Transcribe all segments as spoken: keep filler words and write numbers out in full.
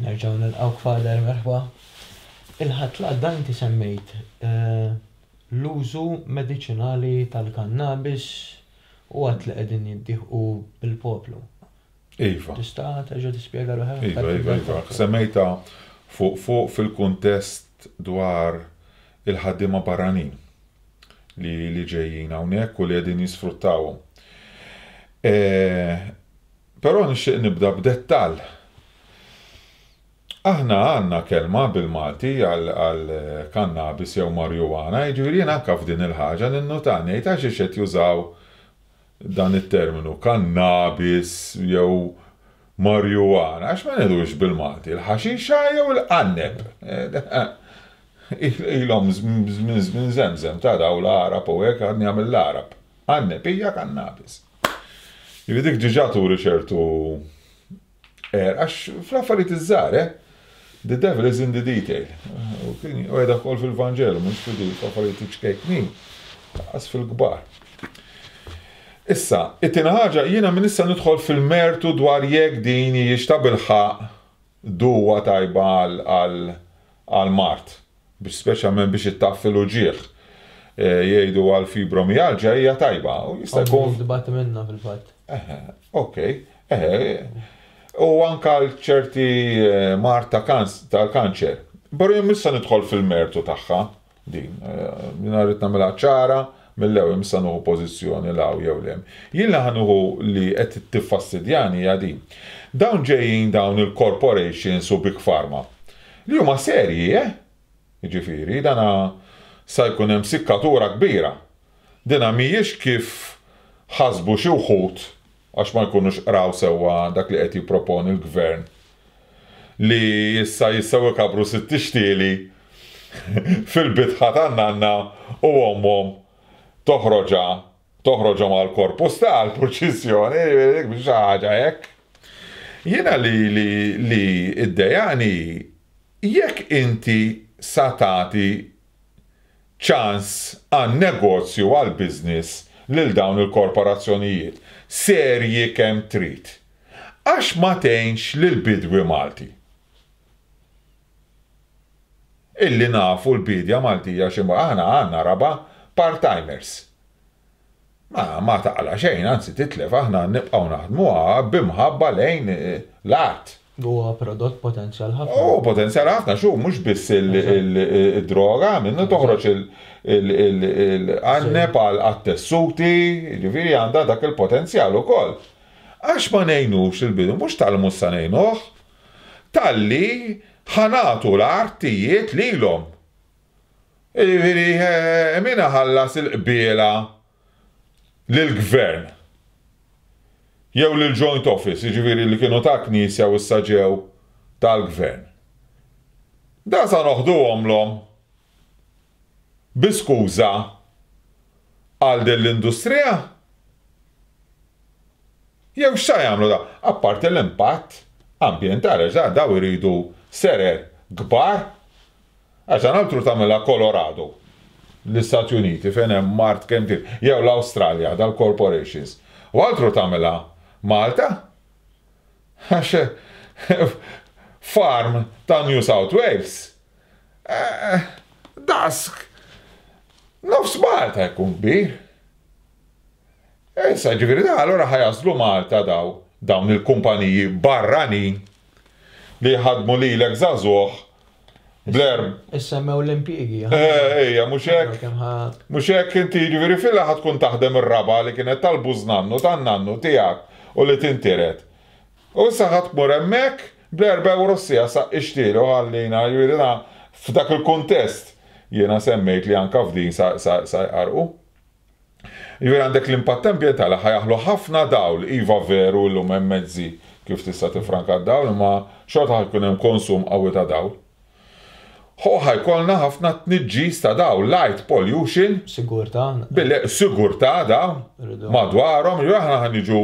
Nerġgħu nilqgħu, Father, merħba. Il-Ħadd li għadda inti semmejt eh, l-użu mediċinali tal-kannabis u għedt li qegħdin jiddieħqu bil-poplu. Iva. Tista' terġa' tispjega ruħek? Iva, iva, iva. Semmejta fuq fuq fil-kuntest dwar il-ħaddiema barranin li li ġejjin hawnhekk u li qegħdin jisfruttawhom. E, Però nixtieq nibda b'dettall. Aħna għandna kelma bil-Malti għal kannabis jew marijuana, jiġifieri jien anke f'din il-ħaġa ninnota, ngħid għax qed jużaw dan it-terminu kannabis jew marijuana, għax ma ngħidux bil-Malti, il-ħaxixa jew il-qanneb? Ilhom minn żemżem ta' daw l-Għarab u hekk, għadni għamil l-Għarab. Qanneb hija kannabis. Jiġifieri dik diġà turi ċertu er, għax fl-affarijiet iż-żgħar, eh? The devil is in the detail. U kien u għedha wkoll fil-Vanġelu, mhux fil-affarijiet ċkejknin, għas fil-kbar. Issa, it-tieni ħaġa, jiena minn issa nidħol fil-mertu dwar jekk din hijiex ta' bilħaqq duwa tajba għal mard, biex speċjalment biex ittaffi l-uġigħ. E, jgħidu għal fibromialġja hija tajba. U jista' jkun. Dibat minna fil-fatt. Ok, u anka ċerti eh, mard tal-kanċer. Però jien issa nidħol fil-mertu tagħha din. Eh, jiena rrid nagħmilha ċara mill-ewwel, issa nieħu pożizzjoni 'l hawn jew 'l hemm. Jien li ħa nieħu li qed tiffastidjani hija din. Dawn ġejjin dawn il-corporations u big pharma. Li huma serji, eh? Jiġifieri, dana sa jkun hemm sikkatura kbira. Dina mhijiex kif ħasbu xi wħud għax ma jkunux qraw sewwa dak li qed jipproponi l-gvern, li issa jistgħu jkabru sitt ixtieli fil-bitħa tan-nanna u ommhom toħroġha toħroġhom għal korpus tal-purċissjoni, biex ħaġa hekk. Jiena li li li iddejjaqni, jekk inti sa tagħti ċans għan negozju, għal business lil dawn il-korporazzjonijiet serji kemm trid, għax ma tgħinx lil bidwi Malti? Illi nafu l-bidja Maltija xi aħna għandna raba' part-timers. Ma, ma taqla xejn, anzi titlef, aħna nibqgħu naħdmuha b'imħabba lejn eh, l-art. Huwa prodott potenzjal ħafna. Oh, potenzjal ħafna, xu, mhux biss il-droga, minnu toħroġ il-qanneb għal tessuti, ġifieri għandha dak il-potenzjal ukoll. Għax ma ngħinux il-bidwi, mhux tal-mhux sa ngħinuh, talli ħa nagħtu l-artijiet lilhom. Ġifieri, eh, min ħallas il-qbiela lill-gvern jew lil-joint office, ġifieri li kienu ta' knisja u issa ġew tal-gvern? Da sa noħduhomlhom bi skuża għal din l-industrija? Jew x'sa jagħmlu da? Apparti l-impatt ambjentali, għax daw iridu serer kbar, għax altru tagħmilha Colorado, l-Istati Uniti fejn hemm mart kemm trid, jew l-Awstralja dal-corporations. U altru tagħmilha Malta? Għax farm ta' New South Wales, Eh, daqs nofs Malta jkun kbir. Issa ġifieri da allura ħa jaslu Malta daw dawn il-kumpaniji barranin li ħadmu lilek żagħżugħ bler. Issemmew l-impjiegi. Eh, ejja, mhux hekk. Kemm ħa- Mhux hekk inti, ġifieri filla ħa tkun taħdem ir-raba li kienet tal-bużnannu tan-nannu tiegħek u li tintiret. U issa ħa tmur hemmhekk bl-erba' euro siegħa sa ixtielu ħallina, ġifieri na f'dak il-kuntest jiena semmejt li anka f'din sa sa sa jqarqu. Ġifieri għandek l-impatt ambjentali, ħa jaħlu ħafna dawl, iva, veru, llum hemm mezzi kif tista' tifranka d-dawl, imma xorta ħa jkun hemm konsum qawwi ta' dawl. Ho ħa jkollna ħafna tniġġis ta' dawl, light pollution, Sigurtà. Bille sigurtà dawn Rridu. madwarhom, ġifieri aħna ħa niġu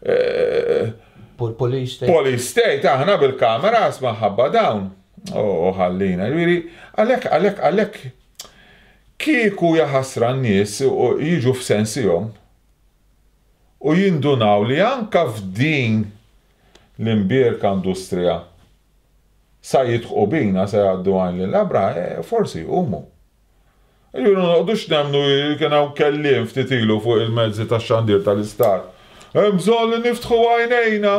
eh, Pol- Police state. Police state, aħna bil-kamera ħabba dawn. Oh, ħallina, ġifieri, għalhekk, għalhekk, għalhekk, kieku jaħasra n-nies u jiġu f'sensihom u jindunaw li anka f'din l-imbierka industrija Sa jidħqu bina, sa jgħaddu għajn lill-għabra, eh, forsi jqumu. Ġifieri noqogħdux nemmnu, kien hawn kelliem ftit ilu fuq il-mezzi tax-xandir tal-istat. Hemm bżonn li niftħu għajnejna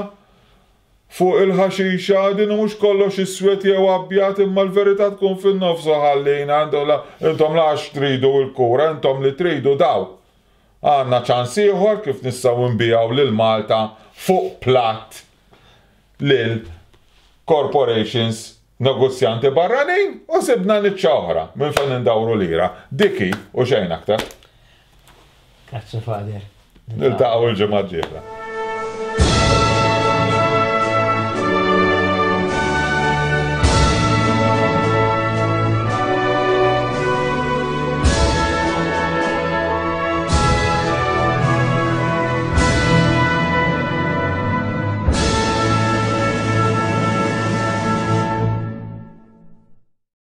fuq il-ħaxixa, din mhux kollox iswed jew abjad, imma l-verità tkun fin-nofs u ħallina intom lax tridu l-kura, intom li tridu daw. Għandna ċans ieħor kif nistgħu nbigħu lil Malta fuq platt lil corporations, negozjanti barranin, u sibna niċċa oħra minn fejn indawru lira. Dik hi u xejn aktar. Grazzi, Father. Niltaqgħu l-ġimgħa d-dieħla.